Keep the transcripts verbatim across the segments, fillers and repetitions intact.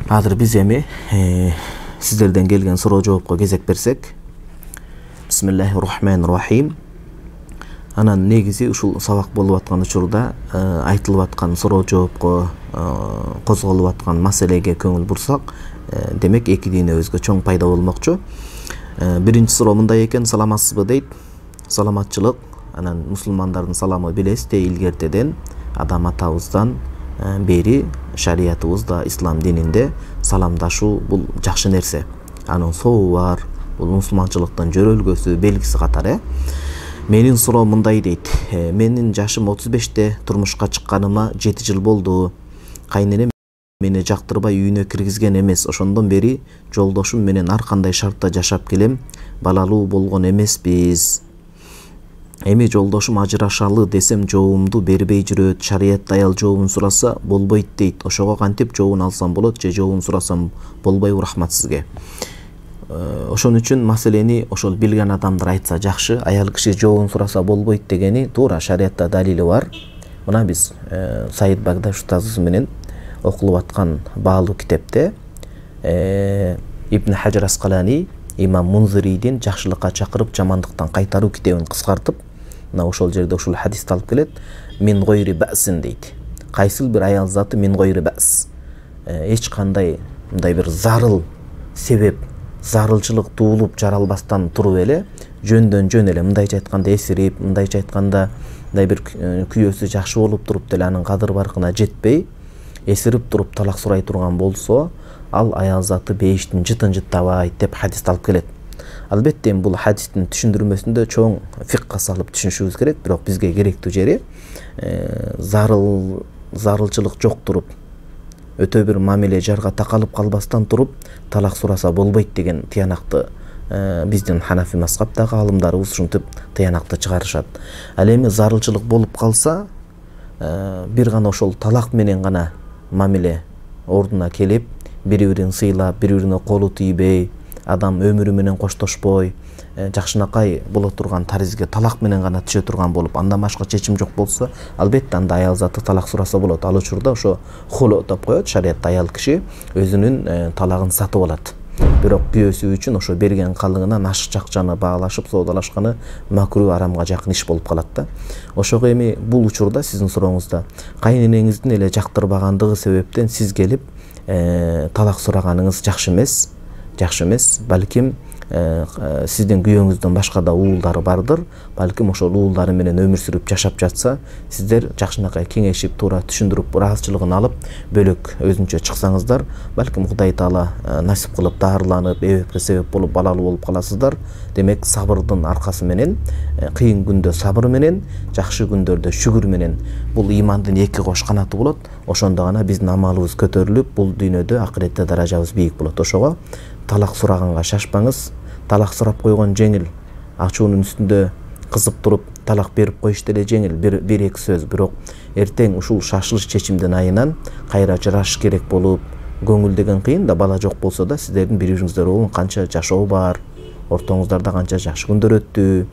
Азыр биз эми сиздерден келген суроо жоопко кезек берсек. Бисмиллахир-рахманир-рахим. Анан негизи ушул сабак болуп аткан учурда айтылып аткан суроо жоопко козголуп аткан маселеге көңүл бурсак, демек эки динебизге чоң пайда болмокчу. Биринчи суроо мындай экен: саламатсызбы дейт. Саламатчылык. Анан мусулмандардын саламы билесиз, илгертеден адам атабыздан бери шариятыбызда, ислам дининде саламдашуу бул жакшы нерсе. Анын сообу бар. Бул мусулманчылыктын жөрөлгөсү, белгиси катары. Менин суроом мындай дейт: менин жашым отуз беште, турмушка чыкканыма жети жыл болду. Кайненем мени жактырбай үйүнө киргизген эмес. Ошондон бери жолдошум менен ар кандай шартта жашап келем. Балалуу болгон эмеспиз. Эми жолдошум ажырашалы десем жообумду бербей жүрөт. Шариятта аял жообун сураса болбойт дейт. Ошого кантип жообун алсам болот же жообун сурасам болбойбу? Рахмат сизге. Ошон үчүн маселени ошол билген адамдар айтса жакшы. Аял киши жообун сураса болбойт дегени туура, шариятта далили бар. Мына биз Саид Багдаш устазыбыз менен окулуп аткан баалуу китепте Ибн Хаджар Аскалани имам Мунзирийдин жакшылыкка чакырып, жамандыктан кайтаруу китебин кыскартып, мына ошол жерде ушул хадисти алып келет. Мин гойри баъсин дейт. Кайсыл бир аял заты мин гойри баъс. Эч кандай мындай бир зарыл себеп, зарылчылык туулуп жаралбастан туруп эле, жөндөн жөн эле, мындайча айтканда эсирип, мындайча айтканда мындай бир күйөөсү жакшы болуп туруп деле анын кадыр баркына жетпей, эсирип туруп талак сурай турган болсо, ал аял заты бейиштин жытын жыттабайт деп хадисти алып келет. Албетте бул хадистин түшүндүрмөсүндө чоң фикка салып түшүнүшүбүз керек, бирок бизге керектүү жери зарыл зарылчылык жок туруп, өтө бир мамиле жарга такалып калбастан туруп талак сураса болбойт деген тыянакты биздин Ханафи мазхабтагы алымдарыбыз ушинтип тыянакты чыгарышат. Ал эми зарылчылык болуп калса, бир гана ошол талак менен гана мамиле ордуна келип, бири-бирин сыйлап, бири-бирине колу тийбей, адам өмүрү менен коштошпой, жакшынакай боло турган таризге талак менен гана түшө турган болуп, андан башка чечим жок болсо, албетте анда аял заты талак сураса болот. Ал учурда ошо хулу деп коет. Шариятта аял киши өзүнүн талагын сатып алат. Бирок күйөөсү үчүн ошо берген калыгынан ашык жакчаны баалашып соодалашканы макруh, арамга жакын иш болуп калат да. Ошого эми бул учурда сиздин сурооңузда кайненеңиздин эле жактырбагандыгы себептен сиз келип талак сураганыңыз жакшы эмес. Жакшы эмес. Балким сиздин күйөөңүздөн башка да уулдары бардыр. Балким ошол уулдары менен өмүр сүрүп жашап жатса, сиздер жакшынакай кеңешип, туура түшүндүрүп, ыраазычылыгын алып, бөлөк өзүнчө чыксаңыздар, балким Кудай Таала насип кылып дарыланып, эбепке себеп болуп, балалуу болуп каласыздар. Демек сабырдын аркасы менен, кыйын күндө сабыр менен, жакшы күндөрдө шүгүр менен бул имандын эки кош канаты болот. Ошондо гана биздин амалыбыз көтөрүлүп, бул дүйнөдө, акыретте даражабыз бийик болот. Ошого талак сураганга шашпаңыз. Талак сурап койгон жеңил, ачуунун үстүндө кызып туруп талак берип коюш деле жеңил, бир бир эки сөз. Бирок эртең ушул шашылыш чечимдин айынан кайра ажырашыш керек болуп, көңүл деген кыйын да, бала жок болсо да сиздердин бири-бириңиздер канча жашоо бар, ортоңуздарда канча жакшы күндөр өттү,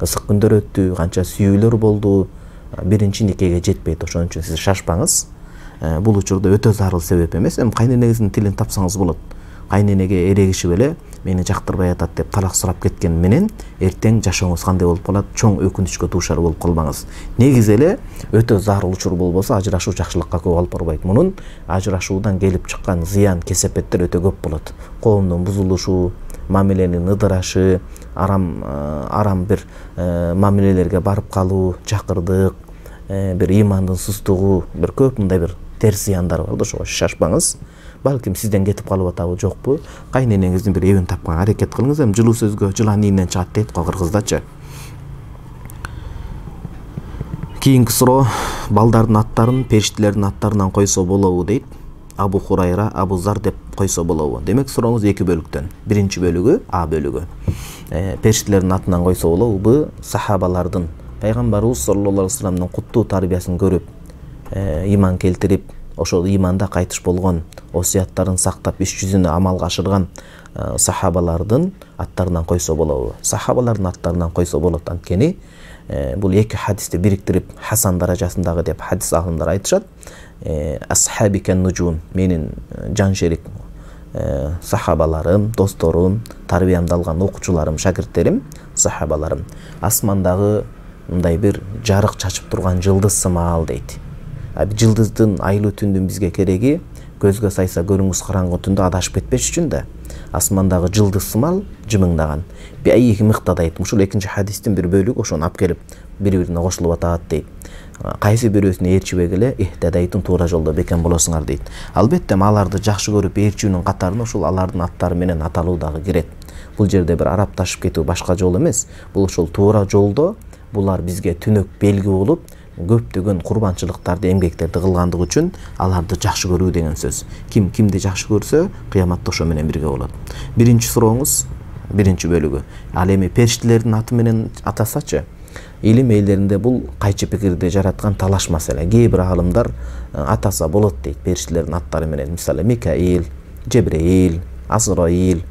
ысык күндөр өттү, канча сүйүүлөр болду, биринчи никеге жетпейт. Ошон үчүн сиз шашпаңыз. Бул учурда өтө зарыл себеп эмес. Эми кайненеңиздин тилин тапсаңыз болот. Кайненеге эрегишип эле мени жактырбай атат деп талак сурап кеткен менен эртең жашооңуз кандай болуп калат, чоң өкүнүчкө дуушар болуп калбаңыз. Негизи эле өтө зарыл учур болбосо ажырашуу жакшылыкка көп алып барбайт. Мунун ажырашуудан келип чыккан зыян, кесепеттер өтө көп болот. Коомдун бузулушу, мамиленин ыдырашы, арам арам бир мамилелерге барып калуу, жакырдык, бир имандын сустугу, бир көп мындай бир терс зыяндар бар да. Ошого шашпаңыз. Балким сизден кетип калып атабы жокпу, кайненеңиздин бир эбин тапканга аракет кылыңыз. Эми жылуу сөзгө жылан ийинен чыгат дейт го кыргыздачы. Кийинки суроо: балдардын аттарын периштелердин аттарынан койсо болобу дейт. Абу Хурайра, Абу Зар деп койсо болобу? Демек сурооңуз эки бөлүктөн. Биринчи бөлүгү А бөлүгү. Периштелердин атынан койсо болобу? Бу сахабалардын, пайгамбарыбыз саллаллаху алейхи вассаламдын куттуу тарбиясын көрүп, иман келтирип, ошол иманда кайтыш болгон, осуяттарын сактап, иш жүзүнө амалга ашырган сахабалардын аттарынан койсо болобу? Сахабалардын аттарынан койсо болот. Анткени бул эки хадисти бириктирип хасан даражасындагы деп хадис алымдар айтышат. Асхаби кен нужум, менин жан шерик сахабаларым, досторум, тарбиямды алган окуучуларым, шакирттерим, сахабаларым асмандагы мындай бир жарык чачып турган жылдыз сымал дейт. Жылдыздын айлуу түндүн бизге кереги көзгө сайса көрүнгүс караңгы түндө адашып кетпеш үчүн да асмандагы жылдыз сымал жымыңдаган. Бейик мыктадайт. Ушул экинчи хадистин бир бөлүгү ошону алып келип бири-бирине кошулуп атат дейт. Кайсы бирөөсүнө ээрчибей эле ихтадайтын туура жолдо бекен болосуңар дейт. Албетте аларды жакшы көрүп ээрчүүнүн катарына ушул алардын аттары менен аталуу дагы кирет. Бул жерде бир арапташып кетүү башка жол эмес. Бул ушул туура жолдо булар бизге түнөк белги болуп, көптөгөн курбанчылыктарды, эмгектерди кылгандыгы үчүн аларды жакшы көрүү деген сөз. Ким кимди жакшы көрсө, кыяматта ошо менен бирге болот. Биринчи сурооңуз, биринчи бөлүгү. Ал эми периштелердин аты менен атасачы? Илим элдеринде бул кайчы пикирди жараткан талаш маселе. Кээ бир аалымдар атаса болот дейт периштелердин аттары менен. Мисалы Микаил, Жебреил, Азраил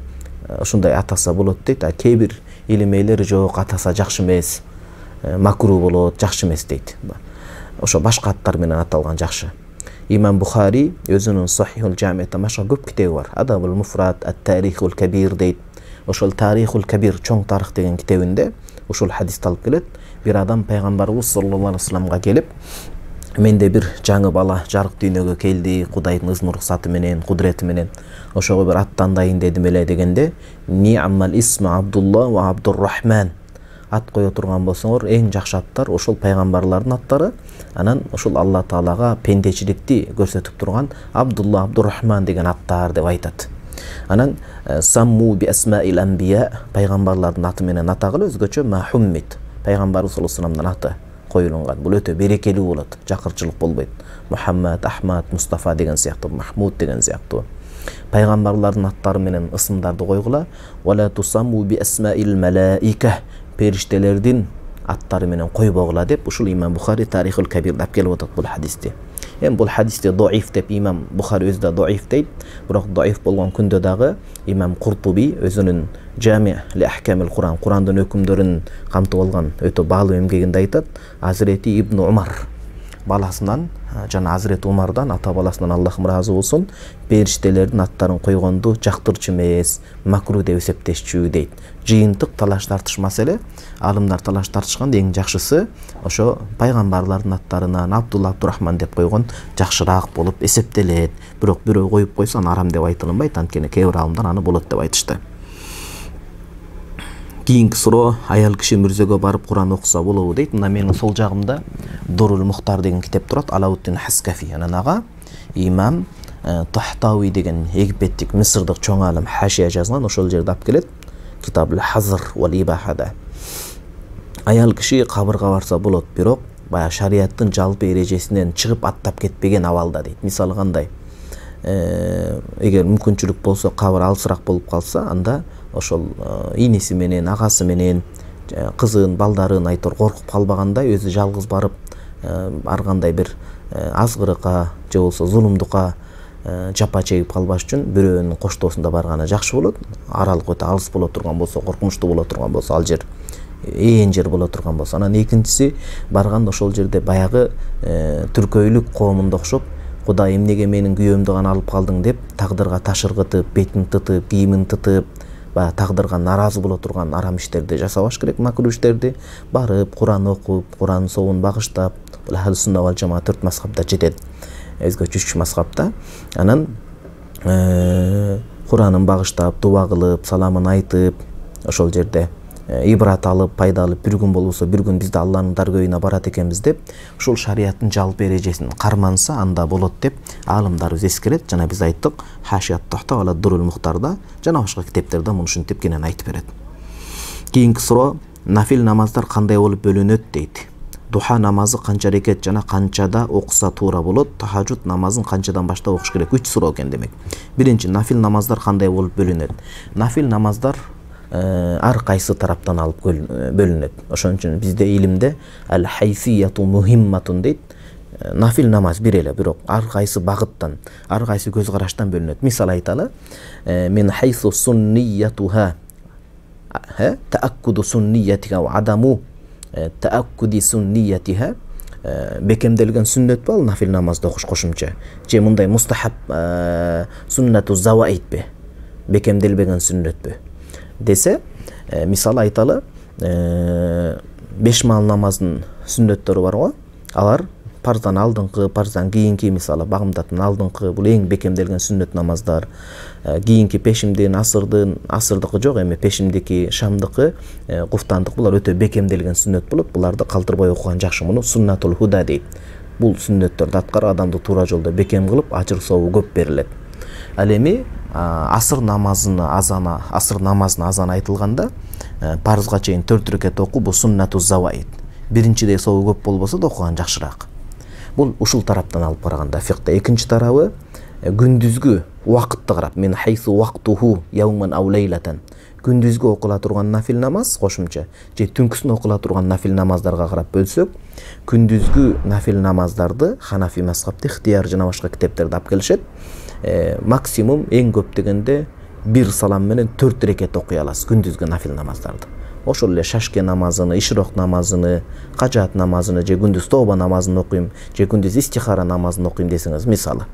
ушундай атаса болот дейт. А кээ бир илим элдери жок, атаса жакшы эмес, макру болот, жакшы эмес дейт. Ошо башка аттар менен аталган жакшы. Имам Бухари өзүнүн Сахихул Жами'те башка көп китеби бар. Адабул Муфрат, Ат-Тарихул Кабир дейт. Ошол Тарихул Кабир, чоң тарых деген китебинде ушул хадисти алып келет. Бир адам пайгамбарыбыз саллаллаху алейхи вассаламга келип, менде бир жаңы бала жарык дүйнөгө келди, Кудайдын ызын уруксаты менен, кудурети менен. Ошого бир ат тандайын дедим эле дегенде, Ни'мал исму Абдулла ва Абдуррахман. Ат кое турган болсоңор, эң жакшы аттар ошол пайгамбарлардын аттары. Анан ошол Алла Таалага пендечиликти көрсөтүп турган Абдулла, Абдуррахман деген аттар деп айтат. Анан самму би асмаил анбия, пайгамбарлардын аты менен атагыла, өзгөчө Мухаммед, пайгамбарыбыз саллаллаху алейхи вассаламдын аты коюлган. Бул өтө берекелүү болот, жакырчылык болбойт. Мухаммад, Ахмад, Мустафа деген сыяктуу, Махмуд деген сыяктуу. Пайгамбарлардын аттары менен ысымдарды койгула. Вала тусамму би асмаил малаика, периштелердин аттары менен койбогула деп ушул Имам Бухари Тарихул Кабирде алып келип атат бул хадисти. Эми бул хадисти доиф деп Имам Бухари өзү да доиф дейт. Бирок доиф болгон күндө дагы Имам Куртуби өзүнүн Жами ли ахкамил Куран, Курандын өкүмдөрүн камтып алган өтө баалуу эмгегинде айтат. Азирети Ибн Умар баласынан жана Азирети Умардан, ата баласынан Аллахым ыраазы болсун, периштелердин аттарын койгонду жактырчу эмес, макру деп эсептешчү дейт. Жыйынтык талаш тартыш маселе. Алымдар талаш тартышканда эң жакшысы ошо пайгамбарлардын аттарынан Абдулла, Абдуррахман деп койгон жакшыраак болуп эсептелет. Бирок бирөө коюп койсо аны арам деп айтылынбайт, анткени кээ бир алымдар аны болот деп айтышты. Кийинки суроо, аял киши мүрзөгө барып Куран окуса болобу дейт. Мына менин сол жагымда Дурул Мухтар деген китеп турат, Алауттин Хаскафи. Анан ага Имам Тахтауи деген египеттик Мисырдык чоң алым хашия жазган, ошол жерде алып келет. Китабул Хазр вал Ибахада. Аял киши кабырга барса болот, бирок бая шариаттын жалпы эрежесинен чыгып аттап кетпеген абалда дейт. Мисалы кандай? Эгер мүмкүнчүлүк болсо, кабыр алысыраак болуп калса, анда ошол иниси менен, агасы менен, кызын, балдарын айтор коркуп калбагандай өзү жалгыз барып, ар кандай бир азгырыкка же болсо зулумдукка жапа чегип калбаш үчүн бирөөнүн коштоосунда барганы жакшы болот. Аралык өтө алыс боло турган болсо, коркунучтуу боло турган болсо, ал жер ээн жер боло турган болсо. Анан экинчиси, барганда ошол жерде баягы түркөйлүк коомунда окшоп, Кудай эмнеге менин күйөөмдү гана алып калдың деп тагдырга таш ыргытып, бетин тытып, кийимин тытып, баягы тагдырга наразы боло турган арам иштерди жасабаш керек, макру иштерди. Барып, Куран окуп, Куран соовун багыштап, бул Ахл сунна вал жамаа төрт мазхабда жетет. Өзгөчө үч мазхабта. Анан Куранын багыштап, дуба кылып, саламын айтып, ошол жерде ибрат алып, пайда алып, бир күн болбосо бир күн бизде Алланын даргөйүнө барат экенбиз деп, ушул шариаттын жалпы эрежесин карманса, анда болот деп аалымдарыбыз эскерет. Жана биз айттык, Хашият Тахта ала Дурул Мухтарда жана башка китептерде муну ушинтип кенен айтып берет. Кийинки суроо, нафил намаздар кандай болуп бөлүнөт дейт. Духа намазы канча рекет жана канчада окуса туура болот? Тахажжуд намазын канчадан баштап окуш керек? Үч суроо экен демек. Биринчи, нафил намаздар кандай болуп бөлүнөт? Нафил намаздар ар кайсы тараптан алып бөлүнөт. Ошон үчүн бизде илимде ал-хайфияту мухимматун дейт. Нафил намаз бир эле, бирок ар кайсы багыттан, ар кайсы көз караштан бөлүнөт. Мисал айталы, мен хайсу сунниятуха, тааккуду сунниятига ва адаму тааккуди сунниятиха, бекемделген сүннөт бал нафил намазды окуш кошумча, же мындай мустахаб суннату заваитпи, бекемделбеген сүннөтпү десе, мисалы айталы, беш маал намаздын сүннөттөрү бар го, алар парздан алдыңкы, парздан кийинки, мисалы багымдаттын алдыңкы, бул эң бекемделген сүннөт намаздар. Кийинки пешимдин, асырдын, асырдыкы жок, эми пешимдики, шамдыкы, куфтандык, булар өтө бекемделген сүннөт болот. Буларды калтырбай окуган жакшы. Муну суннатул худа дейт. Бул сүннөттөрдү аткарып адамды туура жолдо бекем кылып, ажыр сообу көп берилет. Ал эми асыр намазыны азана, асыр намазына азан айтылганда, парызга чейин төрт рекет окуу, бул суннату заваид. Биринчидей сообу көп болбосо да окуган жакшыраак. Бул ушул тараптан алып караганда фикта. Экинчи тарабы күндүзгү убакытты карап, мен хайсу вактуху яуман ау лейлатан. Күндүзгү окула турган нафил намаз кошумча, же түнкүсүн окула турган нафил намаздарга карап бөлсөк, күндүзгү нафил намаздарды Ханафи мазхабы ихтияр жана башка китептерде алып келишет. Максимум эң көп дегенде бир салам менен төрт рекет окуй аласыз күндүзгү нафил намаздарды. Ошол эле шашке намазыны, ишрок намазыны, кажаат намазыны, же күндүз тоба намазын окуйм, же күндүз истихара намазын окуйм десеңиз, мисалы.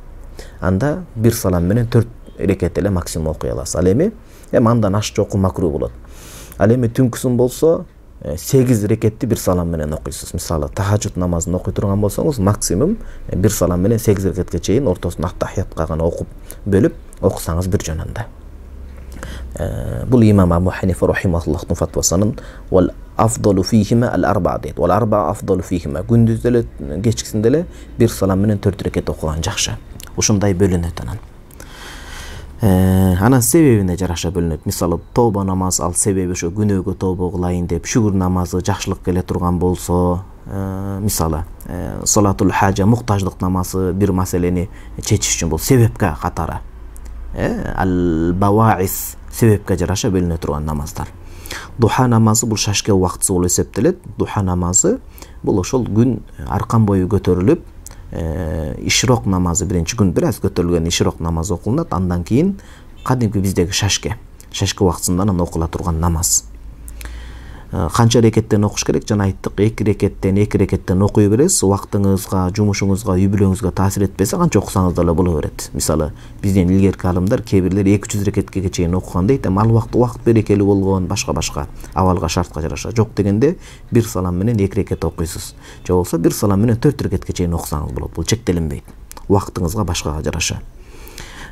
Анда бир салам менен төрт рекет эле максимум окуй аласыз. Ал эми эми андан ашчы окуу макруh болот. Ал эми түнкүсүн болсо сегиз рекетти бир салам менен окуйсуз. Мисалы, тахажжуд намазын окуй турган болсоңуз, максимум бир салам менен сегиз рекетке чейин ортосун аттахиятка гана окуп бөлүп окусаңыз бир жөнүндө. Бул имам Абу Ханифа рахимахуллахтын фатвасынын вал афдалу фихима ал арба дейт. Вал арба афдалу фихима. Күндүздө эле, кечкисинде эле бир салам менен төрт рекет окуган жакшы. Ушундай бөлүнөт анан. Анан себебине жараша бөлүнөт. Мисалы, тоба намаз, ал себеби ошо күнөөгө тоба кылайын деп, шүгүр намазы жакшылык келе турган болсо, мисалы, салатул хажа, муктаждык намазы бир маселени чечиш үчүн бул себепке катары. Ал баваис себепке жараша бөлүнө турган намаздар. Духа намазы бул шашке убактысы болуп эсептелет. Духа намазы бул ошол күн аркан бою көтөрүлүп, ишрок намазы биринчи күн бир аз көтөрүлгөн ишрок намазы окулунат. Андан кийин кадимки биздеги шашке, шашке убактысында окула турган намаз. Канча рекеттен окуш керек? Жана айттык, эки рекеттен, эки рекеттен окуй бересиз. Убактыңызга, жумушуңузга, үй бүлөңүзгө таасир этпесе, канча окусаңыз да боло берет. Мисалы, бизден илгерки алымдар кээ бирлер эки жүз рекетке чейин окуган дейт, эми ал убакыт убакыт берекелүү болгон, башка-башка абалга, шартка жараша. Жок дегенде бир салам менен эки рекет окуйсуз. Же болсо бир салам менен төрт рекетке чейин окусаңыз болот. Бул чектелинбейт. Убактыңызга, башкага жараша.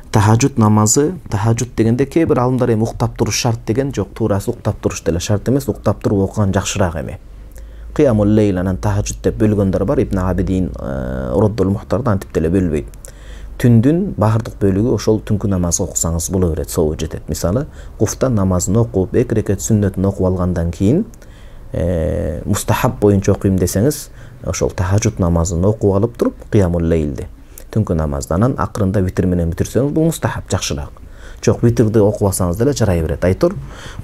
Тахажжуд намазы, тахажжуд дегенде кээ бир алымдар эми уктап туруш шарт деген жок, туурасы уктап туруш деле шарт эмес, уктап туруп окуган жакшыраак эми. Кыямул лейл анан тахажжуд деп бөлгөндөр бар. Ибн Абидин Роддул Мухтарда антип деле бөлбөйт. Түндүн баардык бөлүгү ошол түнкү намазы окусаңыз боло берет, сообу жетет. Мисалы, куфта намазын окуп, эки рекет сүннөтүн окуп алгандан кийин мустахаб боюнча окуйм десеңиз, ошол тахажжуд намазын окуп алып туруп, кыямул лейлди, түнкү намаздан акырында витр менен бүтүрсөңүз, бул мустахаб, жакшыраак. Жок, витрди окубасаңыз деле жарай берет. Айтор,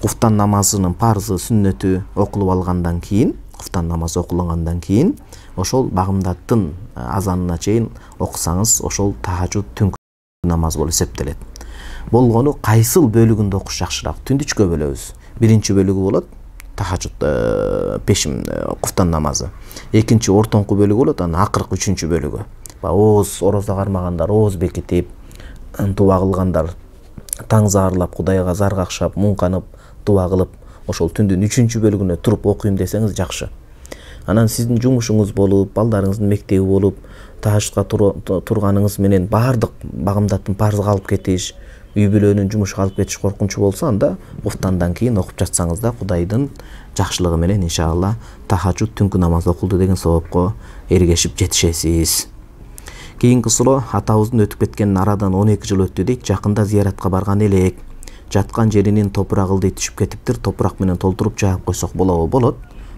куфтан намазынын парзы, сүннөтү окулуп алгандан кийин, куфтан намазы окулгандан кийин, ошол багымдаттын азанына чейин окусаңыз, ошол тахажжуд түнкү намаз болуп эсептелет. Болгону кайсыл бөлүгүндө окуш жакшыраак? Түндү үчкө бөлөбүз. Биринчи бөлүгү болот тахажжуд, пешим, куфтан намазы. Экинчи ортоңку бөлүгү болот, анан акыркы үчүнчү бөлүгү. Ооз, орозо кармагандар, ооз бекитип, дуа кылгандар, таң заарлап, Кудайга заргакшап, муңканып, дуа кылып, ошол түндүн үчүнчү бөлүгүнө туруп окуйм десеңиз жакшы. Анан сиздин жумушуңуз болуп, балдарыңыздын мектеби болуп, тахажжудка турганыңыз менен баардык багымдаттын парзга алып кетиш, үй бүлөнүн жумушка алып кетиш коркунучу болсо, анда куфтандан кийин окуп жатсаңыз да Кудайдын жакшылыгы менен иншалла тахажжуд түнкү намаз окулду деген соопко эргешип жетишесиз. Кийинки суроо, атабыздын өтүп кеткенин арадан он эки жыл өттү дейт. Жакында зияратка барган элек. Жаткан жеринин топурак ылдый түшүп кетиптир. Топурак менен толтуруп жаап койсок болобу? Болот.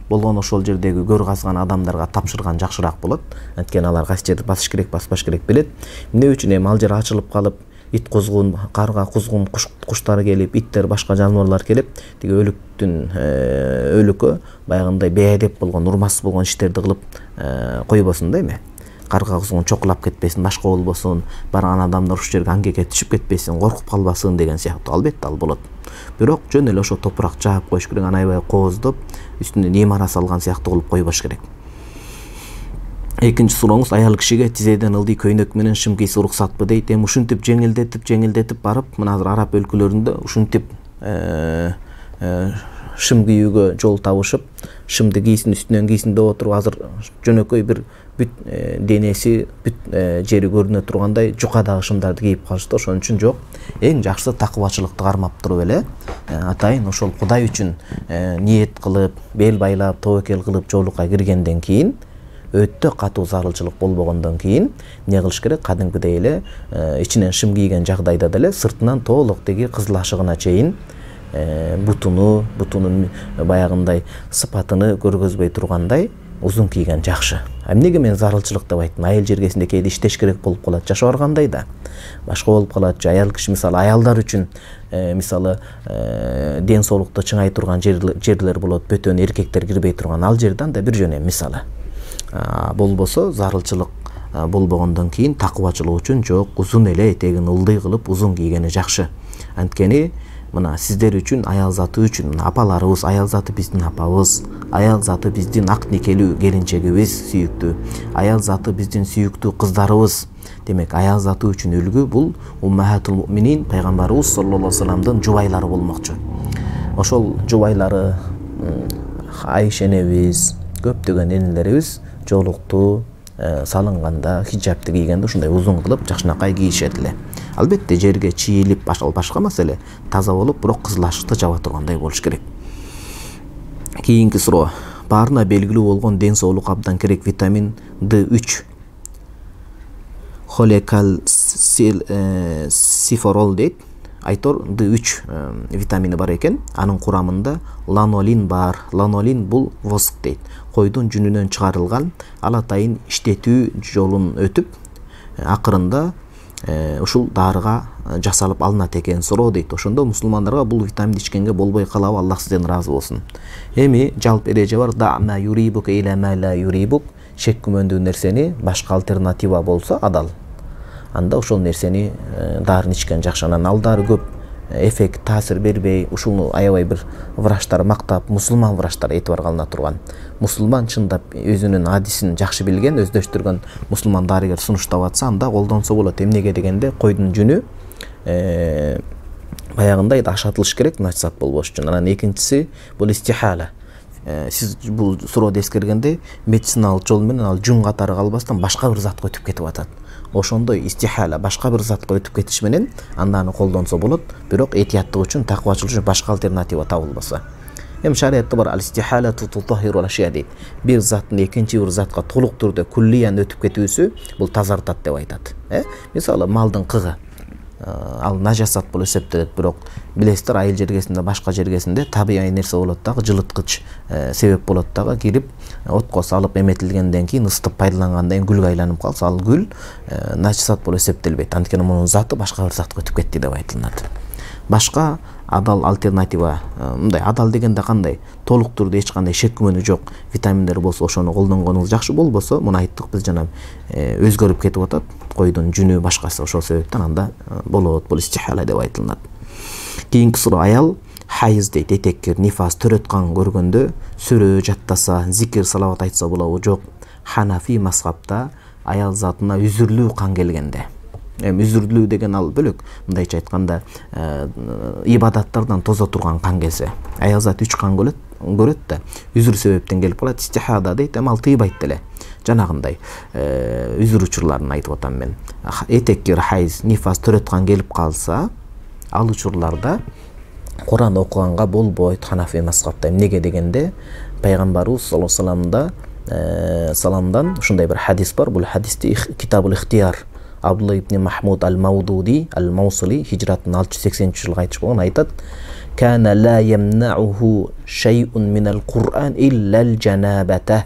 Болгон ошол жердеги көр казган адамдарга тапшырган жакшыраак болот. Анткени алар кайсы жерди басыш керек, баспаш керек билет. Эмне үчүн эми ал жер ачылып калып, ит кузгун, карга кузгун, куштар келип, иттер, башка жаныбарлар келип, тиги өлүктүн өлүккө баягындай бейадеп болгон, урмассыз болгон иштерди кылып койбосун да эми. карга кузгун чокулап кетпесин, башка болбосун, барган адамдар ушул жерге аңгеге түшүп кетпесин, коркуп калбасын деген сыяктуу албетте ал болот. Бирок жөн эле ошо топурак жаап коюш керек, аны аябай кооздоп, үстүнөн имара салган сыяктуу кылып койбош керек. Экинчи сурооңуз, аял кишиге тизеден ылдый көйнөк менен шым кийсе уруксатпы дейт. Эми ушинтип жеңилдетип, жеңилдетип барып, мына азыр араб өлкөлөрүндө ушинтип шым кийүүгө жол табышып, шымды кийсин, үстүнөн кийсин деп отуруп, азыр жөнөкөй бир бүт денеси, бүт жери көрүнө тургандай жукадагы шымдарды кийип калышты. Ошон үчүн жок, эң жакшысы такыбачылыкты кармап туруп эле атайын ошол Кудай үчүн ниет кылып, бел байлап, тобокел кылып жолукка киргенден кийин, өтө катуу зарылчылык болбогондон кийин эмне кылыш керек? Кадимкидей эле ичинен шым кийген жагдайда деле сыртынан толук теги кызыл ашыгына чейин бутуну, бутунун баягындай сыпатыны көргөзбөй тургандай узун кийген жакшы. Эмнеге мен зарылчылык деп айттым? Айыл жергесинде кээде иштеш керек болуп калат, жашап баргандай да. Башка болуп калат. Аял киши мисалы аялдар үчүн мисалы ден соолукту чыңай турган жерлер болот, бөтөн эркектер кирбей турган ал жерде анда бир жөн эми мисалы. Болбосо зарылчылык болбогондон кийин такыбачылык үчүн жок, узун эле этегин ылдый кылып узун кийгени жакшы. Анткени мына сиздер үчүн, аял заты үчүн, апаларыбыз, аял заты биздин апабыз, аял заты биздин ак никелүү келинчегибиз сүйүктүү, аял заты биздин сүйүктүү кыздарыбыз. Демек, аял заты үчүн үлгү бул уммахатул муъминин, пайгамбарыбыз саллаллаху алейхи вассаламдын жубайлары болмокчу. Ошол жубайлары Айша энебиз, көптөгөн энелерибиз жолукту салынганда, хиджабты кийгенде ушундай узун кылып жакшынакай кийишет эле. Албетте жерге чийилип, башка маселе, таза болуп, бирок кызыл ашыкты жаба тургандай болуш керек. Кийинки суроо. Баарына белгилүү болгон ден соолукка абдан керек витамин ди үч. Холекалциферол дейт. Айтор ди үч витамини бар экен. Анын курамында ланолин бар. Ланолин бул воск дейт. Койдун жүнүнөн чыгарылган, ал атайын иштетүү жолун өтүп, акырында ушул дарыга жасалып алынат экен суроо дейт. Ошондо мусулмандарга бул витаминди ичкенге болбой калабы, Аллах сизден ыраазы болсун. Эми жалпы эреже бар, да ма юрибук иля ма ла юрибук, шек күмөндүү нерсени башка альтернатива болсо адал. Анда ошол нерсени дарын ичкен жакшы. Анан ал дары көп эффект, таасир бербей, ушуну аябай бир врачтар мактап, мусулман врачтар этибарга алына турган. Мусулман чындап өзүнүн адисин жакшы билген, өздөштүргөн мусулман дарыгер сунуштап атса, анда колдонсо болот. Эмнеге дегенде, койдун жүнү баягындай ашатылыш керек, начсат болбош үчүн. Анан экинчиси бул истихала. Сиз бул сурооду эскергенде медициналык жол менен ал жүн катары калбастан башка бир затка өтүп кетип атат. Ошондой истихала башка бир затка өтүп кетиш менен анда аны колдонсо болот, бирок этияттык үчүн, такыбачылык үчүн башка альтернатива табылбаса. Эми шариятта бар ал-истихала тутахиру ал-ашия дейт. Бир заттын экинчи бир затка толук түрдө куллиян өтүп кетүүсү бул тазартат деп айтат. Э? Мисалы малдын кыгы. Ал нажасат болуп эсептелет, бирок билесиздер, айыл жергесинде, башка жергесинде табигый нерсе болот дагы, жылыткыч себеп болот дагы, кирип отко салып эметилгенден кийин ысытып пайдалангандан кийин гүлгө айланып калса, ал гүл нажасат болуп эсептелбейт. Анткени мунун заты башка бир затка өтүп кетти деп айтылат. Башка адал альтернатива, мындай адал дегенде кандай? Толук түрдө эч кандай шек күмөнү жок витаминдер болсо, ошону колдонгонуңуз жакшы. Болбосо, муну айттык биз жана өзгөрүп кетип атат. Койдун жүнү башкасы, ошол себептен анда болот, бул истихала деп айтылат. Кийинки суроо, аял хайыз дейт, этеккир, нифас, төрөт кан көргөндө сүрө жаттаса, зикир, салават айтса болобу? Жок. Ханафи мазхабта аял затына үзүрлүү кан келгенде, эми үзүрлүү деген ал бөлөк, мындайча айтканда ибадаттардан тозо турган кан келсе, аял зат үч кан көрөт, көрөт да, үзүр себептен келип калат, истихада дейт, эми ал тыйбайт деле. Жанагындай үзүр учурларын айтып атам мен. Этеккир, хайыз, нифас, төрөт кан келип калса, ал учурларда Куран окуганга болбойт Ханафи мазхабта. Эмнеге дегенде, пайгамбарыбыз саллаллаху алейхи вассаламда саламдан ушундай бир хадис бар. Бул хадисти Китабул Ихтияр Абдулла ибн Махмуд ал-Маудуди ал-Маусили хижраттын алты жүз сексенинчи жылы айтыш болгон, айтат: "Кана ла ямнауху шай'ун минал Кур'ан илля ал-жанабата."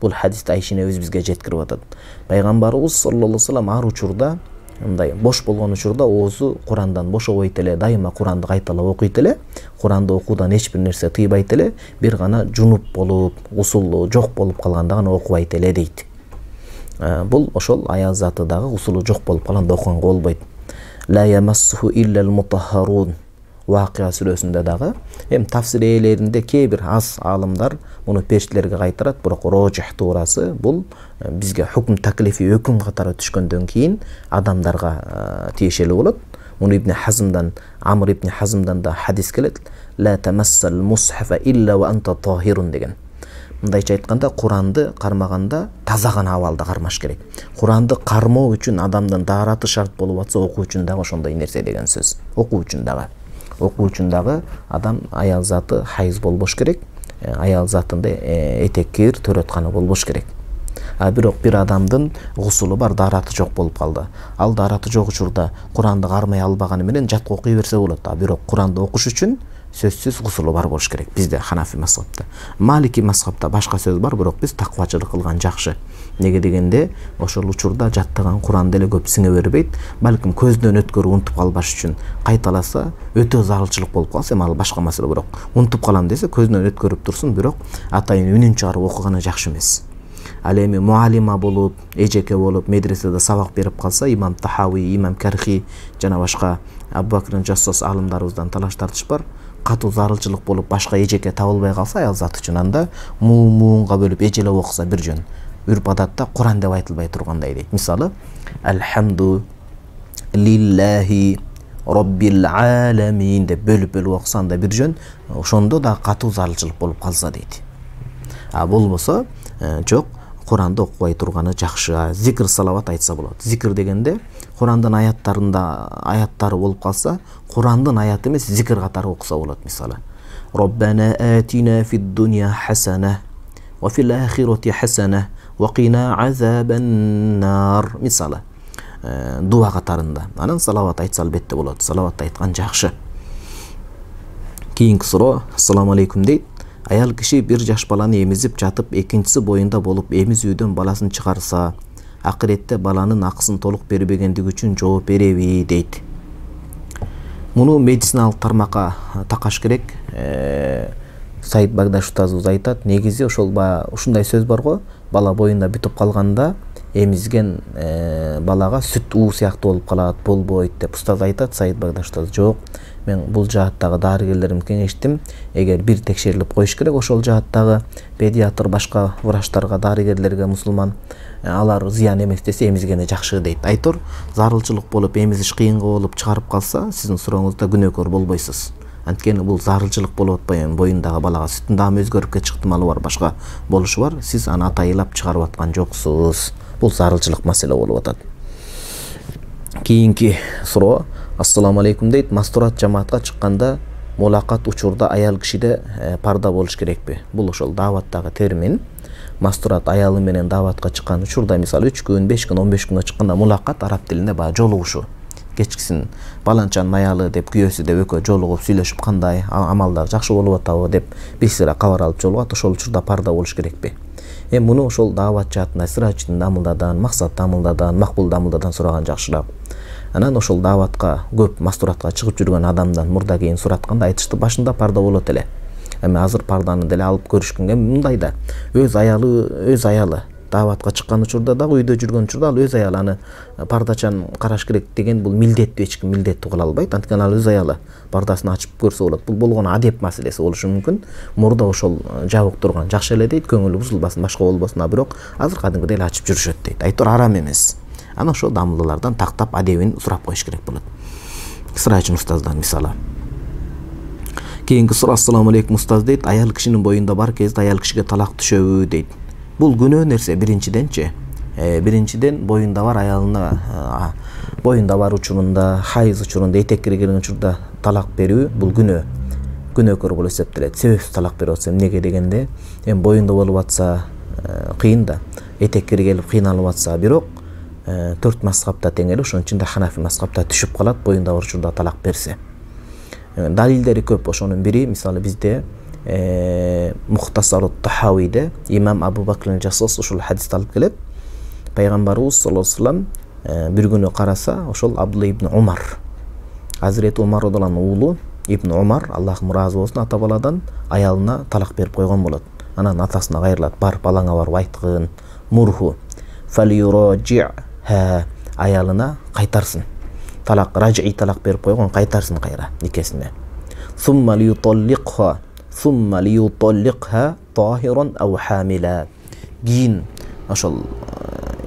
Бул хадисти Айша энебиз бизге жеткирип атат. Пайгамбарыбыз саллаллаху алейхи вассалам ар учурда, мындай бош болгон учурда оозу Курандан бошобойт эле, дайыма Куранды кайталап окуйт эле. Куранды окуудан эч бир нерсе тыйбайт эле, бир гана жунуп болуп, усулу жок болуп калганда гана окубайт эле дейт. Бул ошол аял заты дагы гусулу жок болуп калганда окуганга болбойт. Ла ямассуху иллал мутаххарун Вакыя сүрөсүндө дагы эм тафсир ээлеринде кээ бир аз аалымдар муну периштелерге кайтарат, бирок рожих туурасы бул бизге хукм таклифи өкүм катары түшкөндөн кийин адамдарга тиешелүү болот. Муну Ибн Хазмдан, Амр ибн Хазмдан да хадис келет. Ла тамассал мусхафа илля ва анта тахирун деген. Мындайча айтканда, Куранды кармаганда таза гана абалда кармаш керек. Куранды кармоо үчүн адамдын даараты шарт болуп атса, окуу үчүн дагы ошондой нерсе деген сөз. Окуу үчүн дагы. Окуу үчүн дагы адам аял заты хайыз болбош керек. Аял затында этеккир төрөтканы болбош керек. А бирок бир адамдын гусулу бар, даараты жок болуп калды. Ал даараты жок учурда Куранды кармай албаганы менен жатка окуй берсе болот. А бирок Куранды окуш үчүн сөзсүз гусулу бар болуш керек. Бизде Ханафи мазхабта. Малики мазхабта башка сөз бар, бирок биз таквачылык кылган жакшы. Неге дегенде, ошол учурда жаттаган Куран деле көп сиңе бербейт. Балким көздөн өткөрүп унутуп калбаш үчүн кайталаса, өтө зарылчылык болуп калса, эми ал башка маселе, бирок унутуп калам десе, көздөн өткөрүп турсун, бирок атайын үнүн чыгарып окуганы жакшы эмес. Ал эми муалима болуп, эжеке болуп, медреседе сабак берип калса, имам Тахави, имам Кархи жана башка Абу Бакр Жассос аалымдарыбыздан талаш тартыш бар. Катуу зарылчылык болуп, башка эжеке табылбай калса, аял заты үчүн анда муу-муунга бөлүп эжелеп окуса бир жөн. Үрп адатта Куран деп айтылбай тургандай дейт. Мисалы, Алхамду лиллахи роббил аламин деп бөлүп-бөлүп окуса анда бир жөн, ошондо да катуу зарылчылык болуп калса дейт. А болбосо, жок, Куранды окубай турганы жакшы. Зикр салават айтса болот. Зикр дегенде Курандын аяттарында аяттары болуп калса, Курандын аяты эмес, зикр катары окуса болот. Мисалы, Роббана атина фид дунья хасана ва фил ахирати хасана ва кина азабан нар. Мисалы, дуа катарында. Анан салават айтса албетте болот. Салават айткан жакшы. Кийинки суроо, ассаламу алейкум дейт. Аял киши бир жаш баланы эмизип жатып, экинчиси боюнда болуп, эмизүүдөн баласын чыгарса, акыретте баланын акысын толук бербегендиги үчүн жооп береби дейт. Муну медициналык тармакка такаш керек. Саид Багдаш устазыбыз айтат, негизи ошол ушундай сөз бар го, бала боюнда бүтүп калганда эмизген балага сүт уу сыяктуу болуп калат, болбойт деп устаз айтат. Саид Багдаш устаз жок, мен бул жааттагы дарыгерлеримди кеңештим. Эгер бир текшерилип коюш керек, ошол жааттагы педиатр, башка врачтарга, дарыгерлерге, мусулман, алар зыян эмес десе, эмизгени жакшы дейт. Айтор, зарылчылык болуп, эмизиш кыйынга болуп чыгарып калса, сиздин сурооңузда күнөөкөр болбойсуз. Анткени бул зарылчылык болуп атпайбы, боюндагы балага сүттүн даамы өзгөрүп кетип ыктымалы бар, башка болушу бар. Сиз аны атайылап чыгарып аткан жоксуз. Бул зарылчылык маселе болуп атат. Кийинки суроо, ассаламу алейкум дейт. Мастурат жамаатка чыкканда мулакат учурда аял кишиде парда болуш керекпи? Бул ошол дааваттагы термин. Мастурат аялы менен дааватка чыккан учурда, мисалы үч күн, беш күн, он беш күнгө чыкканда мулакат араб тилинде баа жолугушу. Кечкисин баланчанын аялы деп, күйөөсү деп экөө жолугуп сүйлөшүп, кандай амалдар жакшы болуп атабы деп бир сыйра кабар алып жолугат. Ошол учурда парда болуш керекпи? Эми муну ошол даават жаатында Сирадждин Дамылдадан, Максат Дамылдадан, Макбул Дамылдадан сураган жакшыраак. Анан ошол дааватка көп мастуратка чыгып жүргөн адамдан мурда кийин суратканда айтышты, башында парда болот эле. Эми азыр парданы деле алып көрүшкөнгө мындай да, өз аялы, өз аялы дааватка чыккан учурда дагы, үйдө жүргөн учурда ал өз аялы, аны пардачан караш керек деген бул милдеттүү, эч ким милдеттүү кыла албайт. Анткени ал өз аялы пардасын ачып көрсө болот. Бул болгону адеп маселеси болушу мүмкүн. Мурда ошол жабык турган жакшы эле дейт, көңүлү бузулбасын, башка болбосун. А бирок азыр кадимкидей эле ачып жүрүшөт дейт. Айтор арам эмес. Аны ошол дамылдылардан тактап адебин сурап коюш керек болот. Сыраачын устаздан мисалы. Кийинки суроо, ассаламу алейкум устаз дейт. Аял кишинин боюнда бар кезде аял кишиге талак түшөбү дейт. Бул күнөө нерсе биринчиденчи. Э, биринчиден боюнда бар аялына, боюнда бар учурунда, хайыз учурунда, этек кирген учурда талак берүү бул күнөө. Күнөөкөр болуп эсептелет. Себепсиз талак берип атса, эмнеге дегенде, эми боюнда болуп атса кыйын да, этек киргелип кыйналып атса, бирок төрт мазхабта тең эле, ошон үчүн да Ханафи мазхабта түшүп калат боюнда бар учурда талак берсе. Далилдери көп. Ошонун бири, мисалы бизде Мухтасарут Тахавиде имам Абу Бакр Жассос ушул хадисти алып келет. Пайгамбарыбыз саллаллаху алейхи вассалам бир күнү караса, ошол Абдулла ибн Умар, Азирети Умар радыйаллаху уулу Ибн Умар, Аллахым ыраазы болсун, ата баладан аялына талак берип койгон болот. Анан атасына кайрылат, бар балаңа барып айткын, мурху фалюраджи'ха, аялына кайтарсын. Талак, ражи талак берип койгон, кайтарсын кайра никесине. Сумма лиюталликха, сумма лиюталликха тахиран ау хамила. Кийин ошол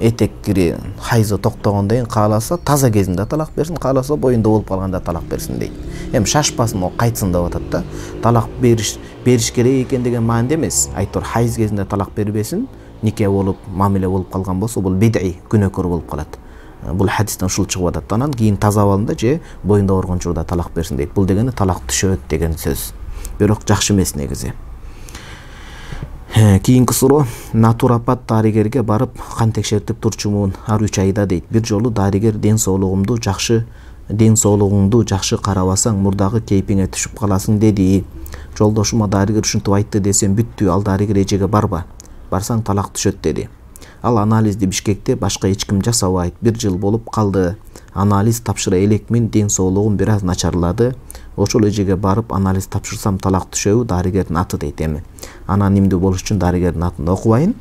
этек кири хайзы токтогондон кийин кааласа таза кезинде талак берсин, кааласа боюнда болуп калганда талак берсин дейт. Эми шашпасын, о кайтсын деп атат да. Талак бериш бериш керек экен деген маанид эмес. Айтор хайз кезинде талак бербесин, нике болуп, мамиле болуп калган болсо бул бид'i, күнөөкөр болуп калат. Бул хадистен ушул чыгып атат. Анан кийин таза абалында же боюнда барган учурда талак берсин дейт. Бул дегени талак түшөт деген сөз. Бирок жакшы эмес негизи. Кийинки суроо, натуропат дарыгерге барып кан текшертип турчумун ар үч айда дейт. Бир жолу дарыгер ден соолугумду жакшы ден соолугуңду жакшы карабасаң мурдагы кейпиңе түшүп каласың деди. Жолдошума дарыгер ушинтип айтты десем бүттү, ал дарыгер эжеге барба. Барсаң талак түшөт деди. Ал анализди Бишкекте башка эч ким жасабайт. Бир жыл болуп калды. Анализ тапшыра элекмин, ден соолугум бир аз начарлады. Ошол эжеге барып анализ тапшырсам талак түшөбү, дарыгердин аты дейт. Эми анонимдүү болуш үчүн дарыгердин атын окубайын.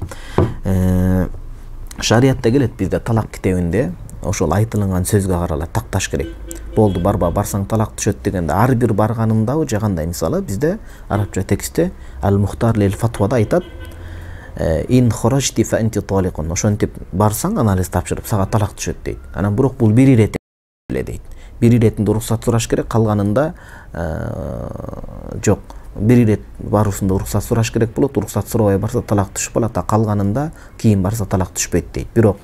Шариятта келет бизде талак китебинде ошол айтылган сөзгө каралат, такташ керек. Болду, барба, барсаң талак түшөт дегенде ар бир барганымдабы же кандай, мисалы бизде арабча текстте Ал-Мухтар лил фатвада айтат: ин хорожти фа анти таликун. Ошентип барсаң анализ тапшырып сага талак түшөт дейт. Анан бирок бул бир ирет эле дейт. Бир иретинде уруксат сураш керек, калганында жок. Бир ирет баруусунда уруксат сураш керек болот, уруксат сурабай барса талак түшүп калат, а калганында кийин барса талак түшпөйт дейт. Бирок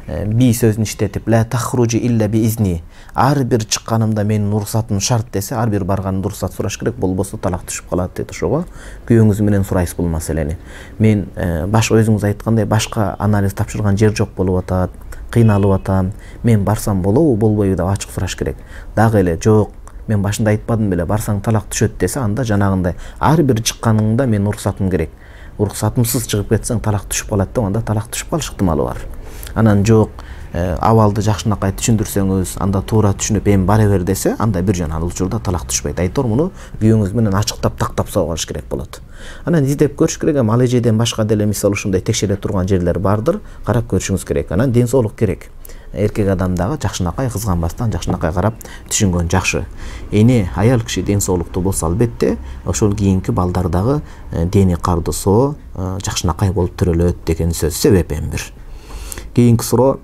би сөзүн иштетип ла тахруджи илля би изни, ар бир чыкканымда менин уруксатым шарт десе, ар бир барганымда уруксат сураш керек, болбосо талак түшүп калат дейт. Ошого күйөөңүз менен сурайсыз бул маселени. Мен башка өзүңүз айткандай башка анализ тапшырган жер жок болуп атат, кыйналып атам, мен барсам болобу болбойбу деп ачык сураш керек. Дагы эле жок, мен башында айтпадым беле, барсаң талак түшөт десе, анда жанагындай ар бир чыкканыңда мен уруксатым керек. Уруксатымсыз чыгып кетсең талак түшүп калат деп, анда талак түшүп калыш ыктымалы бар. Анан жок, абалды жакшынакай түшүндүрсөңүз, анда туура түшүнүп эми бара бер десе, анда бир жана ал учурда талак түшпөйт. Айтор муну күйөөңүз менен ачыктап тактап салыш керек болот. Анан издеп көрүш керек, ал эжеден башка деле мисалы ушундай текшере турган жерлер бардыр, карап көрүшүңүз керек. Анан ден соолук керек. Эркек адам дагы жакшынакай кызганбастан жакшынакай карап түшүнгөн жакшы. Эне аял киши ден соолуктуу болсо албетте ошол кийинки балдар дагы дени кардысоо жакшынакай болуп төрөлөт деген сөз. Себеп эми бир. Кийинки суроо,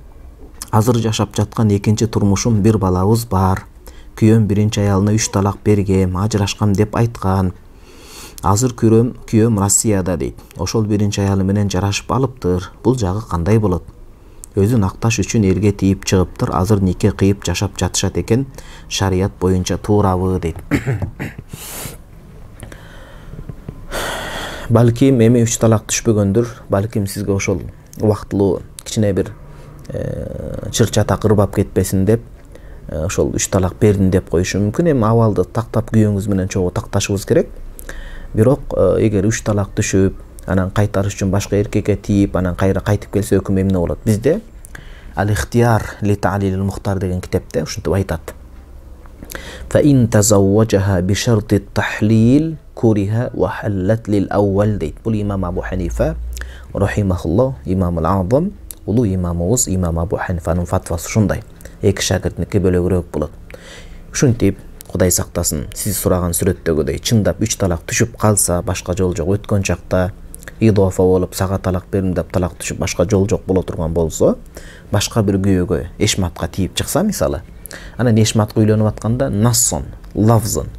азыр жашап жаткан экинчи турмушум, бир балабыз бар. Күйөөм биринчи аялына үч талак бергем, ажырашкам деп айткан. Азыр күйөөм күйөөм Россияда дейт. Ошол биринчи аялы менен жарашып алыптыр. Бул жагы кандай болот? Өзүн акташ үчүн элге тийип чыгыптыр. Азыр нике кыйып жашап жатышат экен. Шарият боюнча туурабы дейт. Балким эми үч талак түшпөгөндүр. Балким сизге ошол убактылуу кичине бир чыр чатак ырбап кетпесин деп ошол үч талак бердим деп коюшу мүмкүн. Эми абалды тактап күйөөңүз менен чогуу такташыбыз керек. Бирок эгер үч талак түшүп, анан кайтарыш үчүн башка эркекке тийип, анан кайра кайтып келсе өкүм эмне болот? Бизде Ал-Ихтияр ли Та'лил ал-Мухтар деген китепте ушинтип айтат. Fa in tazawwajaha bi sharti at-tahlil kuriha wa halat lil awwal дейт. Бул имам Абу Ханифа рахимахуллах, имам ал-Азам, улуу имамыбыз имам Абу Ханифанын фатвасы ушундай. Эки шагиртнике бөлөгүрөөк болот. Ушинтип, Кудай сактасын, сиз сураган сүрөттөгүдөй чындап үч талак түшүп калса, башка жол жок, өткөн чакта идофа болуп сага талак бердим деп талак түшүп башка жол жок боло турган болсо, башка бир күйөөгө эшматка тийип чыкса мисалы, анан эшматка үйлөнүп атканда нассон, лавзын,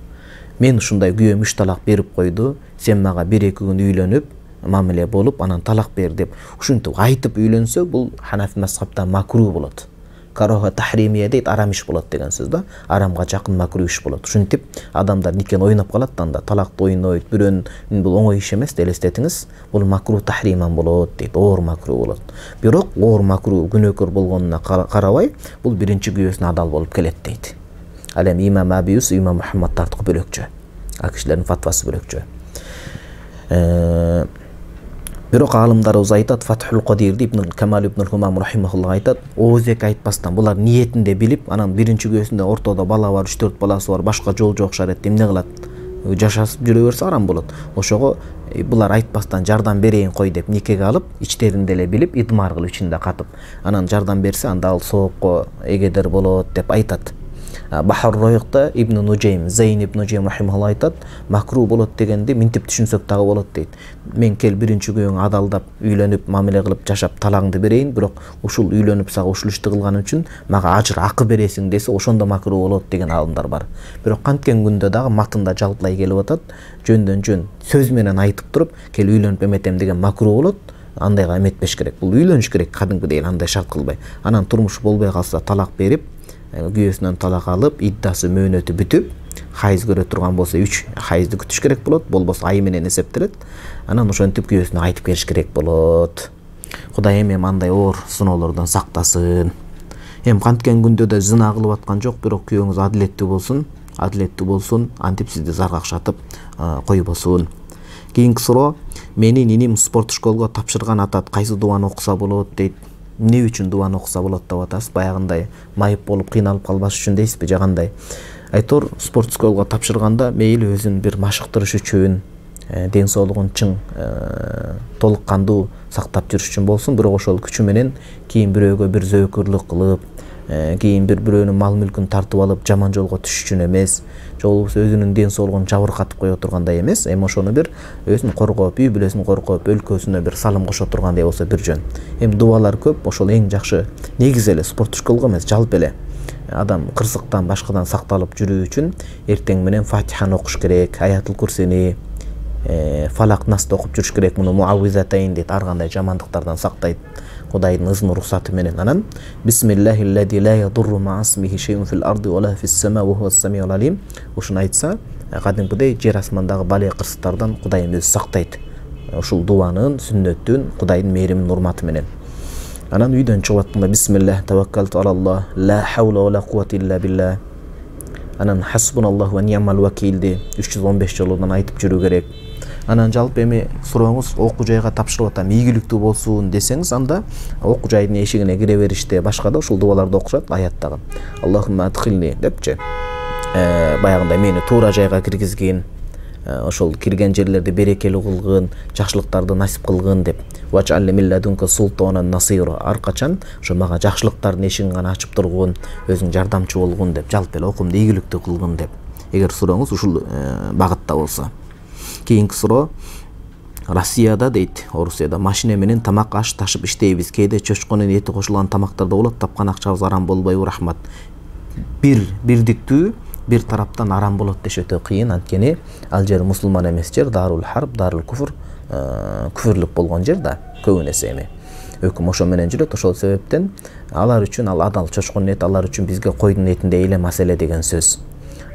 мен ушундай күйөөм үч талак берип койду, сен мага бир эки күн үйлөнүп, мамиле болуп, анан талак бер деп ушинтип айтып үйлөнсө, бул Ханафи мазхабта макру болот. Кароха тахримия дейт, арам иш болот деген сөз да. Арамга жакын макру иш болот. Ушинтип адамдар никени ойноп калат да, анда талакты ойнойт, бирөөнүн бул оңой иш эмес, элестетиңиз. Бул макру тахриман болот дейт, оор макру болот. Бирок оор макру күнөөкөр болгонуна карабай, бул биринчи күйөөсүнө адал болуп келет дейт. Ал эми имам Абиус, имам Мухаммад тартыкы бөлөкчө. А кишилердин фатвасы бөлөкчө. Бирок алымдарыбыз айтат, Фатхул Кадирди Ибн Камал ибн Хумам рахимахуллах айтат, оозек айтпастан булар ниетинде билип, анан биринчи күйөөсүндө ортодо бала бар, үч төрт баласы бар, башка жол жок шарет, эмне кылат? жашасып жүрө берсе арам болот. Ошого булар айтпастан жардам берейин кой деп никеге алып, ичтеринде эле билип, идмар кылып ичинде катып, анан жардам берсе, анда ал соокко эгедер болот деп айтат. Бахар Ройкта Ибн Нужейм, Зейн Ибн Нужейм рахимахулла айтат, макру болот дегенди минтип түшүнсөк дагы болот дейт. Мен кел биринчи күйөөңө адалдап, үйлөнүп, мамиле кылып жашап талаңды берейин, бирок ушул үйлөнүп сага ушул ишти кылганым үчүн мага ажыр акы бересиң десе, ошондо макру болот деген аалымдар бар. Бирок канткен күндө дагы матында жалпылай келип атат, жөндөн жөн сөз менен айтып туруп, кел үйлөнүп эметем деген макру болот. Андайга эметпеш керек. Бул үйлөнүш керек кадимкидей, андай шарт кылбай. Анан турмуш болбой калса талак берип, күйөөсүнөн талак алып, иддасы мөөнөтү бүтүп, хайыз көрө турган болсо үч хайызды күтүш керек болот, болбосо ай менен эсептелет. Анан ошентип күйөөсүнө айтып келиш керек болот. Кудай эми андай оор сыноолордон сактасын. Эми канткен күндө да зына кылып аткан жок, бирок күйөөңүз адилеттүү болсун, адилеттүү болсун, антип сизди заргакшатып койбосун. Кийинки суроо: менин иним спорт школго тапшырган атат, кайсы дуаны окуса болот дейт. Эмне үчүн дуаны окуса болот деп атасыз? Баягындай майып болуп кыйналып калбаш үчүн дейсизби же кандай? Айтор, спорт школго тапшырганда мейли өзүн бир машыктырыш үчүн, ден соолугун чың толук кандуу сактап жүрүш үчүн болсун, бирок ошол күчү менен кийин бирөөгө бир зөөкүрлүк кылып, кийин бир бирөөнүн мал мүлкүн тартып алып жаман жолго түшүш үчүн эмес, же болбосо өзүнүн ден соолугун жабыркатып кое тургандай эмес, эми ошону бир өзүн коргоп, үй бүлөсүн коргоп, өлкөсүнө бир салым кошо тургандай болсо бир жөн. Эми дубалар көп, ошол эң жакшы негиз эле спорт школго эмес, жалпы эле адам кырсыктан башкадан сакталып жүрүү үчүн эртең менен Фатиханы окуш керек, Аятул Курсини, Фалак Насты окуп жүрүш керек. Муну муаввизатайн дейт, ар кандай жамандыктардан сактайт Кудайдын ызын уруксаты менен. Анан бисмиллахиллади ла ядурру ма'асмихи шейун фил арди ва ла фис сама ва хувас самиул алим. Ушуну айтса, кадимкидей жер асмандагы бале кырсыктардан Кудай өзү сактайт. Ушул дуанын, сүннөттүн, Кудайдын мээриминин урматы менен. Анан үйдөн чыгып атканда бисмиллах таваккалту алаллах, ла хаула ва ла куввата илля билlah. Анан хасбуналлаху ва ни'мал вакилди үч жүз он беш жолудан айтып жүрүү керек. Анан жалпы эми сурооңуз окуу жайга тапшырып атам, ийгиликтүү болсун десеңиз, анда окуу жайдын эшигине кире бериште башка да ушул дубаларды окушат аяттагы. Аллахумма адхилни депчи. Баягындай мени туура жайга киргизгин, ошол кирген жерлерди берекелүү кылгын, жакшылыктарды насип кылгын деп. Вачалли милладунка султанан насира. Ар качан ошо мага жакшылыктардын эшигин гана ачып тургун, өзүң жардамчы болгун деп, жалпы эле окуумду ийгиликтүү кылгын деп. Эгер сурооңуз ушул багытта болсо. Кийинки суроо: Россияда дейт, Орусияда машина менен тамак аш ташып иштейбиз. Кээде чочконун эти кошулган тамактарда болот, тапкан акчабыз арам болбойбу? Рахмат. Бир бирдиктүү бир тараптан арам болот деш өтө кыйын, анткени ал жер мусулман эмес жер, дарул харб, дарул куфр, күфүрлүк болгон жер да көбүнесе эми. Өкүм ошо менен жүрөт, ошол себептен алар үчүн ал адал чочконун эти, алар үчүн бизге койдун этиндей эле маселе деген сөз.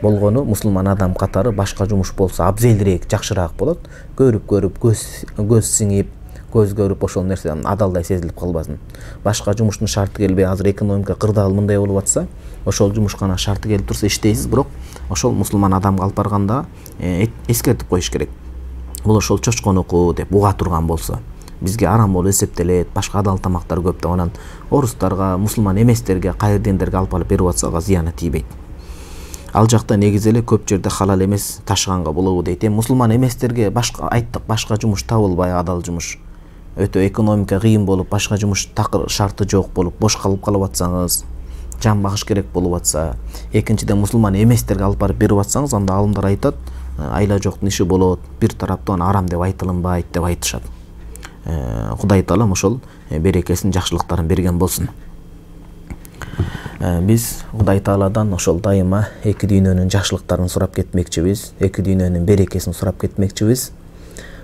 Болгону мусулман адам катары башка жумуш болсо абзелирээк, жакшыраак болот. Көрүп-көрүп көз көз сиңип, көз көрүп ошол нерсе адалдай сезилип калбасын. Башка жумуштун шарты келбей, азыр экономика кырдаал мындай болуп атса, ошол жумушкана шарты келип турса иштейсиз, бирок ошол мусулман адамга алып барганда эскертип коюш керек. Бул ошол чочконуку деп уга турган болсо, бизге арам болуп эсептелет, башка адал тамактар көп деп, анан орустарга, мусулман эместерге, кайыр диндерге алып барып берип атса, ага зыяны тийбейт. Ал жакта негизи эле көп жерде халал эмес ташыганга болобу дейт. Эми мусулман эместерге башка айттык, башка жумуш табылбай, адал жумуш, өтө экономика кыйын болуп, башка жумуш такыр шарты жок болуп, бош калып калып атсаңыз, жан багыш керек болуп атса, экинчиден мусулман эместерге алып барып берип атсаңыз, анда алымдар айтат, айла жоктун иши болот, бир тараптан арам деп айтылынбайт деп айтышат. Кудай таалам ошол берекесин, жакшылыктарын берген болсун. Биз Кудай Тааладан ошол дайыма эки дүйнөнүн жакшылыктарын сурап кетмекчибиз, эки дүйнөнүн берекесин сурап кетмекчибиз.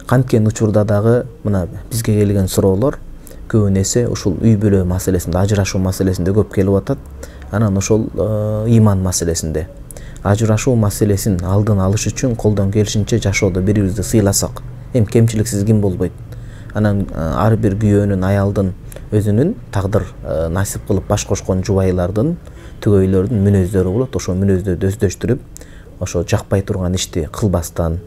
Канткен учурда дагы мына бизге келген суроолор көбүнесе ушул үй бүлө маселесинде, ажырашуу маселесинде көп келип атат. Анан ошол ыйман маселесинде. Ажырашуу маселесин алдын алыш үчүн колдон келишинче жашоодо бири-бирибизди сыйласак, эми кемчиликсиз ким болбойт. Анан ар бир күйөөнүн, аялдын өзүнүн тагдыр насип кылып баш кошкон жубайлардын, түгөйлөрдүн мүнөздөрү болот. Ошо мүнөздөрдү өздөштүрүп, ошо жакпай турган ишти кылбастан,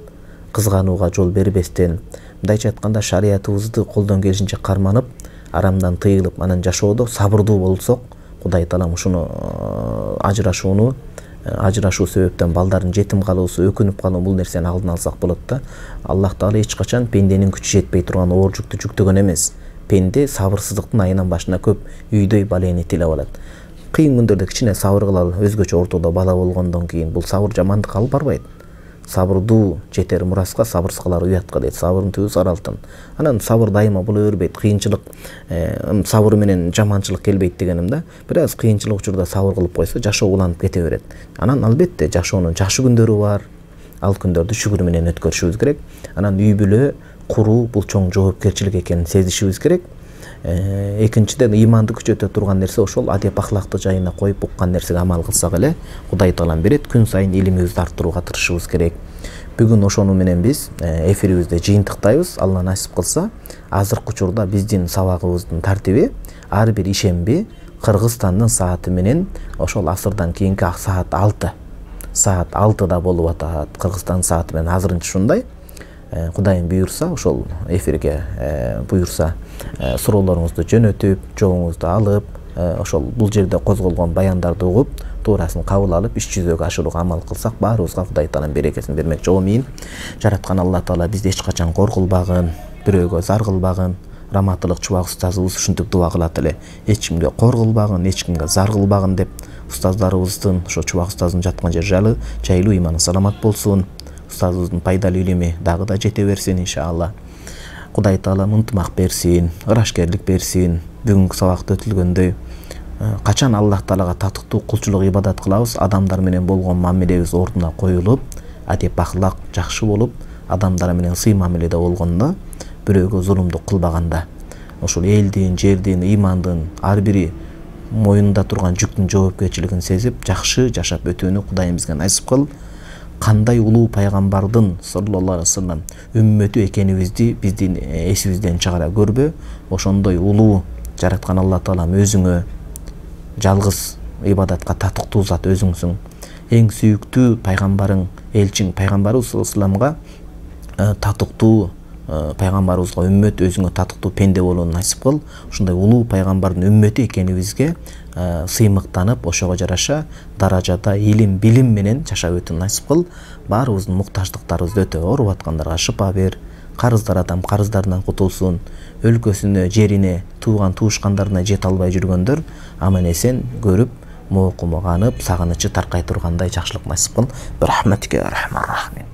кызганууга жол бербестен, мындайча айтканда шариятыбызды колдон келишинче карманып, арамдан тыйылып, анан жашоодо сабырдуу болсок, Кудай таалам ушуну ажырашууну ажырашуу себептен балдардын жетим калуусу, өкүнүп калуу, бул нерсени алдын алсак болот да. Аллах Таала эч качан пенденин күчү жетпей турган оор жүктү жүктөгөн эмес. Пенде сабырсыздыктын айынан башына көп үйдөй балени тилеп алат. Кыйын күндөрдө кичине сабыр кылалы, өзгөчө ортодо бала болгондон кийин бул сабыр жамандыкка алып барбайт. Сабырдуу жетер мураска, сабырсыз калар уятка дейт. Сабырдын түбү сары алтын. Анан сабыр дайыма була бербейт. Кыйынчылык, сабыр менен жаманчылык келбейт дегеним да. Бир аз кыйынчылык учурда сабыр кылып койсо, жашоо уланып кете берет. Анан албетте жашоонун жакшы күндөрү бар. Ал күндөрдү шүгүр менен өткөрүшүбүз керек. Анан үй бүлө куруу бул чоң жоопкерчилик экенин сезишибиз керек. Экинчиден, ыйманды күчөтө турган нерсе ошол адеп ахлакты жайына коюп уккан нерсеге амал кылсак эле Кудай Таалам берет. Күн сайын илимибизди арттырууга тырышыбыз керек. Бүгүн ошону менен биз эфирибизди жыйынтыктайбыз. Алла насип кылса, азыркы учурда биздин сабагыбыздын тартиби ар бир ишемби Кыргызстандын сааты менен ошол асырдан кийинки саат алты. Саат алтыда болуп атат. Кыргызстан сааты менен азырынча ушундай. Кудайым буйрса, ошол эфирге буйрса, суроолоруңузду жөнөтүп, жообуңузду алып, ошол бул жерде козголгон баяндарды угуп, туурасын кабыл алып, иш жүзөгө ашырууга амал кылсак, баарыбызга Кудай Таалам берекесин бермек. Жоомин. Жараткан Алла Таала бизди эч качан кор кылбагын, бирөөгө зар кылбагын. Раматылык Чубак устазыбыз ушинтип дуа кылат эле. Эч кимге кор кылбагын, эч кимге зар кылбагын деп, устаздарыбыздын, ошо Чубак устаздын жаткан жери жайлы, жайлуу, иманы саламат болсун. Устазыбыздын пайдалуу илими дагы да жете берсин иншалла. Кудай Таалам ынтымак берсин, ырашкерлик берсин. Бүгүнкү сабакта өтүлгөндөй, качан Аллах Таалага татыктуу кулчулук ибадат кылабыз, адамдар менен болгон мамилебиз ордуна коюлуп, адеп ахлак жакшы болуп, адамдар менен сый мамиледе болгондо, бирөөгө зулумдук кылбаганда, ошол элдин, жердин, ыймандын ар бири моюнунда турган жүктүн жоопкерчилигин сезип, жакшы жашап өтүүнү Кудайым бизге насип кыл. Кандай улуу пайгамбардын саллаллаху алейхи ва саллям үммөтү экенибизди биздин эсибизден чыгара көрбө. Ошондой улуу жараткан Алла Таалам өзүңө жалгыз ибадатка татыктуу зат өзүңсүң. Эң сүйүктүү пайгамбарың, элчиң пайгамбарыбыз саллаллаху алейхи ва саллям татыктуу пайгамбарыбызга үммөт, өзүңө татыктуу пенде болууну насип кыл. Ушундай улуу пайгамбардын үммөтү экенибизге сыймыктанып, ошого жараша даражада илим, билим менен жашап өтүүнү насип кыл. Баарыбыздын муктаждыктарыбызды өтө, ооруп аткандарга шыпа бер. Карыздар адам карыздарынан кутулсун. Өлкөсүнө, жерине, тууган туушкандарына жете албай жүргөндөр аман эсен көрүп, моокумуганып, сагынычы таркай тургандай жакшылык насип кыл. Рахматика рахман рахим.